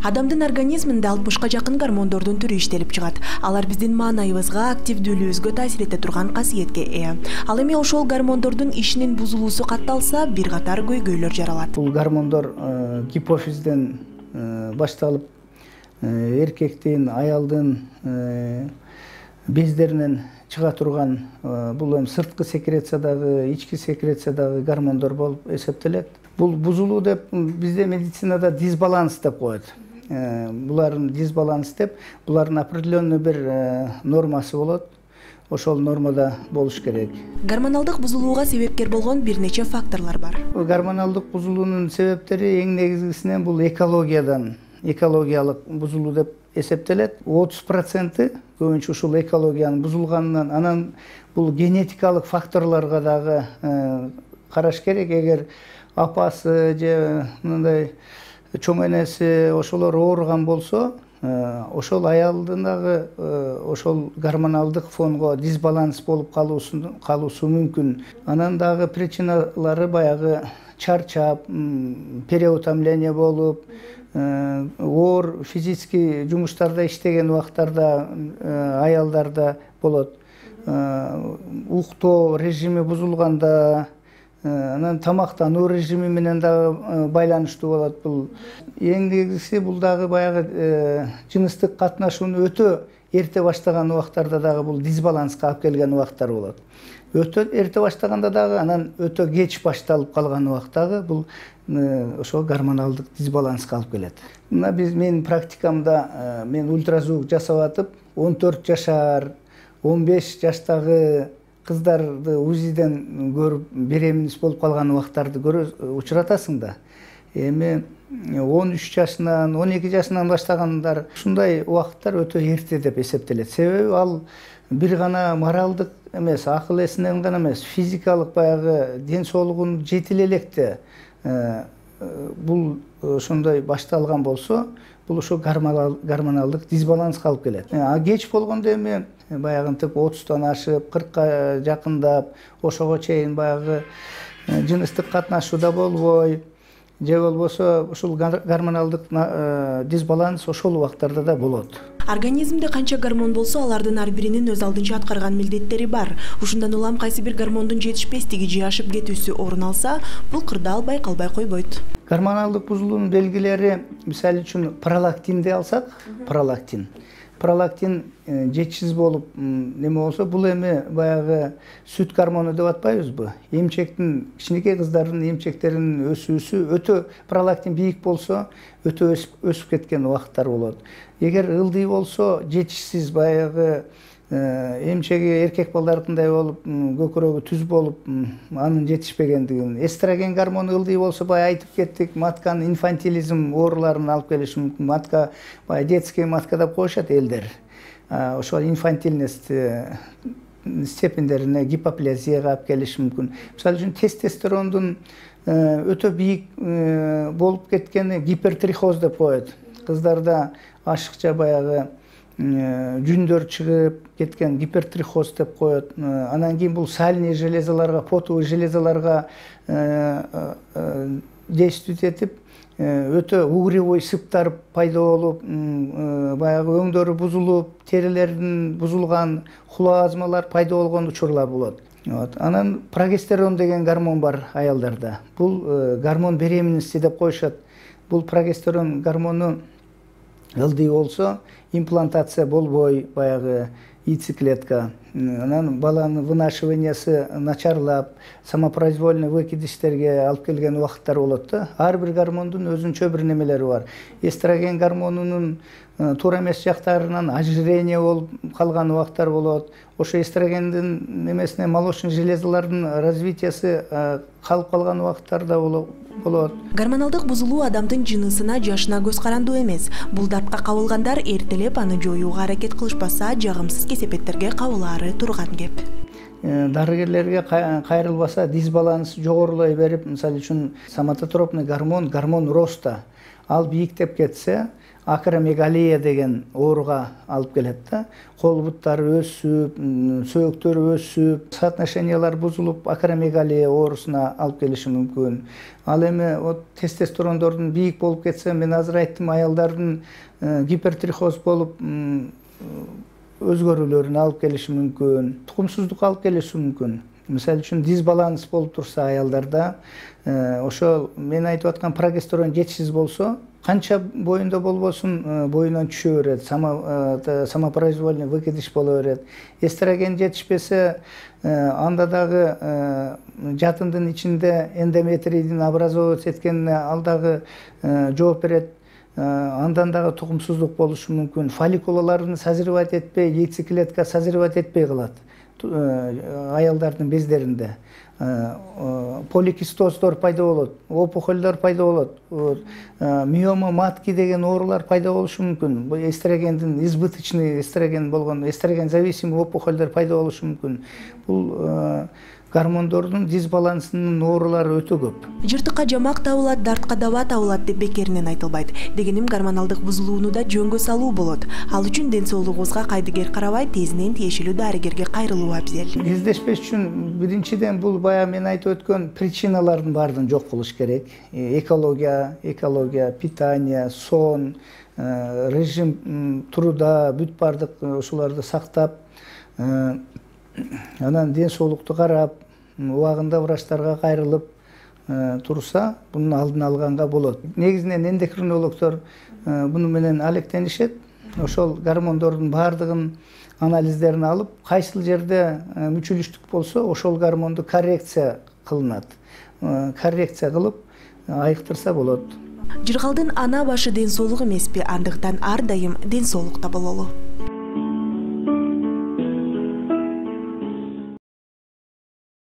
Адамдын организминде 60га жакын гормондордун түрү иштелип чыгат. Алар биздин маанайыбызга, активдүүлүгүбүзгө таасир эте турган касиетке ээ. Ал эми ошол гормондордун ишинин бузулуусу катталса, бир катар көйгөйлөр жаралат. Бул гормондор гипофизден башталып, эркектин, аялдын бездеринен чыга турган бул эми сырткы секрециядагы, ички секрециядагы гормондор болуп эсептелет. Бул бузулуу деп бизде медицинада дисбаланс деп коет. Булардын дисбаланс деп, булардын определенный бир нормасы болот. Ошол нормада болуш керек. Гормоналдык бузулууга себепкер болгон бир нече факторлор бар. Гормоналдык бузулуунун себептери эң негизгисинен бул экологиялык бузулуу деп эсептелет. 30% көбүнчө ушул экологиянын бузулганынан, анан бул генетикалык факторлорго дагы караш керек. Эгер апасы же мындай чоң энеси ошолор ооруган болсо, ошол аялдын дагы ошол гормоналдык фонго дисбаланс болуп калуусу мүмкүн. Анан дагы причиналары баягы чарчап, переутомление болуп, оор физический жумуштарда иштеген убактарда аялдарда болот. Уктоо режими бузулганда, анан тамактануу режими менен дагы байланыштуу болот. Бул эң негизгиси бул дагы баягы жыныстык катнашууну өтө эрте баштаган убактарда дагы бул дисбаланска алып келген убактар болот. Өтө эрте баштаганда дагы, анан өтө кеч башталып калган убактагы бул ошол гормоналдык дисбаланска алып келет. Мына менин практикамда мен ультразвук жасап атып, 14 жашар, 15 жаштагы кыздарды УЗИден көрүп беременность болуп калган убактарды учуратасың да. Эми 13 жашынан, 12 жашынан баштагандар ушундай убакыттар өтө эрте деп эсептелет. Себеби ал бир гана моралдык эмес, акыл эсинен гана эмес, физикалык баягы ден соолугун жетиле электе бул ошондой башталган болсо, бул ошо гормоналдык дисбаланска алып келет. Кеч болгондо эми баягынтип 30тан ашып, 40ка жакындап, ошого чейин баягы жыныстык катнашууда болбой, же болбосо ушул гормоналдык дисбаланс ошол убактарда да болот. Организмде канча гормон болсо, алардын ар биринин өз алдынча аткарган милдеттери бар. Ушундан улам кайсы бир гормондун жетишпестиги же ашып кетүүсү орун алса, бул кырдаал байкалбай койбойт. Гормоналдык бузулуунун белгилери, мисалы үчүн пролактинди алсак, пролактин жетишсиз болуп неме болсо, бул эми баягы сүт гормону деп атпайбызбы? Эмчектин, кичинекей кыздардын эмчектеринин өсүүсү өтө, пролактин бийик болсо, өтө өсүп кеткен убакыттар болот. Эгер ылдый болсо, жетишсиз баягы эмчеги эркек балдардындай болуп, көкүрөгү түз болуп, анын жетишпегендигин. Эстроген гормону ылдый болсо, бая айтып кеттик, матканын инфантилизм ооруларын алып келиши мүмкүн. Матка, бая детский матка деп коюшат элдер. Ошол инфантильность степендерине гипоплазияга алып келиши мүмкүн. Мисалы үчүн тестостерондун өтө бийик болуп кеткени гипертрихоз деп коет. Кыздарда ашыкча баягы жүндөр чыгып кеткен гипертрихоз деп коет. Анан кийин бул сальный железаларга, потовый железаларга действовать этип, өтө угревой сыптар пайда болуп, баягы өңдөрү бузулуп, терилердин бузулган, хулоазмалар пайда болгон учурлар болот. Анан прогестерон деген гормон бар аялдарда. Бул гормон беременности деп коюшат. Бул прогестерон гормону ылдый болсо, имплантация болбой, баягы яйцеклетка. Анан баланын вынашиваниясы начарлап, самопроизвольный выкидыштерге алып келген убакыттар болот да. Ар бир гормондун өзүнчө бир немелери бар. Эстроген гормонунун туура эмес жактарынан ожирение болуп калган убактар болот. Ошо эстрогендин немесине молочный железалардын развитиясы калып калган убакыттар да болот. Гормоналдык бузулуу адамдын жынысына, жашына көз карандуу эмес. Бул дартка кабылгандар эртелеп аны жоюуга аракет кылышпаса, жагымсыз кесепеттерге кабылаары турган кеп. Дарыгерлерге кайрылбаса, дисбаланс жогорулай берип, мисалы үчүн соматотропный гормон роста, ал бийиктеп кетсе, акромегалия деген ооруга алып келет да. Кол буттары өсүп, сөөктөрү өсүп, соотношениялар бузулуп, акромегалия оорусуна алып келиши мүмкүн. Ал эми тестостерондордун бийик болуп кетсе, мен азыр айттым, аялдардын гипертрихоз болуп өзгөрүүлөрүнө алып келиши мүмкүн, тукумсуздукка алып келиши мүмкүн. Мисалы үчүн дисбаланс болуп турса аялдарда, ошол мен айтып аткан прогестерон жетишсиз болсо, канча боюнда болбосун боюнан түшө берет, самопроизвольный выкидыш боло берет. Эстроген жетишпесе, анда дагы жатындын ичинде эндометрийдин образовываться эткенине ал дагы жооп берет. Андан дагы тукумсуздук болушу мүмкүн. Фолликулаларын созревать этпей, яйцеклетка созревать этпей калат аялдардын бездеринде. Поликистоздор пайда болот, опухолдор пайда болот, миома матки деген оорулар пайда болушу мүмкүн. Бул эстрогендин избыточный эстроген болгон, эстроген зависимый опухолдор пайда болушу мүмкүн. Бул гормондордун дисбалансынын оорулары өтө көп. Жыртыкка жамак табылат, дартка даба табылат деп бекеринен айтылбайт. Дегеним гормоналдык бузулууну да жөнгө салуу болот. Ал үчүн ден соолугубузга кайдыгер карабай, тезинен тиешелүү дарыгерге кайрылуу абзел. Издешпеш үчүн биринчиден бул баягы мен айтып өткөн причиналардын баардыгын жок кылыш керек. Экология, питание, сон, режим труда, бүт баардык ошолорду сактап, анан ден соолукту карап, убагында врачтарга кайрылып турса, бунун алдын алганга болот. Негизинен эндокринологдор буну менен алектенишет. Ошол гормондордун баардыгын анализдерин алып, кайсыл жерде мүчүлүштүк болсо, ошол гормонду коррекция кылынат. Коррекция кылып айыктырса болот. Жыргалдын ана башы ден соолук эмеспи, андыктан ар дайым ден соолукта бололу.